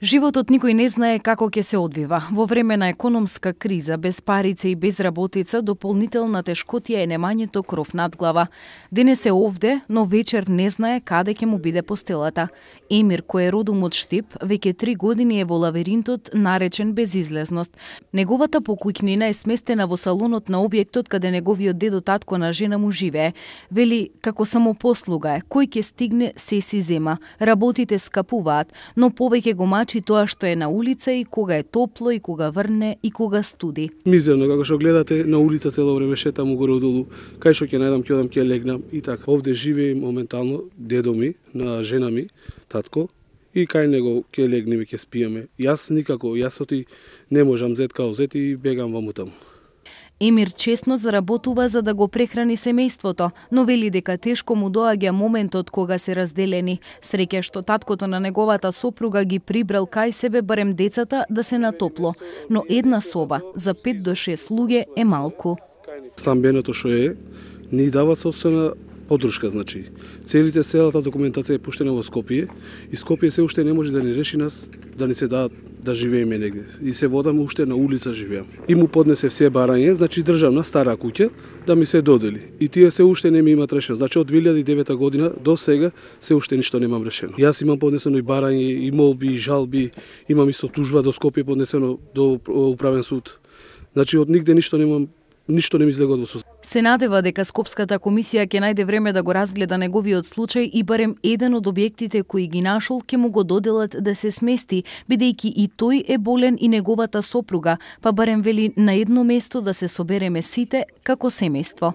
Животот никој не знае како ќе се одвива. Во време на економска криза, без парица и безработица, дополнителна тешкотија е немањето кров над глава. Денес е овде, но вечер не знае каде ќе му биде постелата. Емир, кој е родом од Штип, веќе 3 години е во лавиринтот наречен безизлезност. Неговата покуќнина е сместена во салонот на објектот каде неговиот дедо татко на жена му живее. Вели, како самопослуга е, кој ќе стигне се си зема. Работите скапуваат, но повеќе го мачи тоа што е на улица и кога е топло и кога врне и кога студи. Мизерно, како што гледате на улица цело време шетам угоре-долу, кај што ќе најдам, ќе одам, ќе легнам и така. Овде живее моментално дедо ми, на жена ми, татко, и кај него ќе легнеме, ќе спиеме. Јас никако, јас оти не можам зет као зет и бегам ваму таму. Емир честно заработува за да го прехрани семејството, но вели дека тешко му доаѓа моментот кога се разделени. Среќа што таткото на неговата сопруга ги прибрал кај себе барем децата да се натопло, но една соба за 5 до 6 луѓе е малку. Стамбеното што е, ни дава собствена подршка, значи. Целата документација е пуштена во Скопје и Скопје се уште не може да ни реши нас да ни се дадат да живееме негде. И се водам уште на улица живеам. И му поднесе все барање, значи државна стара куќа да ми се додели. И тие се уште не ми имат решено. Значи од 2009 година до сега се уште ништо немам решено. Јас имам поднесено и барање, и молби, и жалби, имам исто тужба до Скопје поднесено до управен суд. Значи од нигде ништо не ми излегува во суд. Се надева дека Скопската комисија ќе најде време да го разгледа неговиот случај и барем еден од објектите кои ги нашол ќе му го доделат да се смести, бидејќи и тој е болен и неговата сопруга, па барем вели на едно место да се собереме сите како семејство.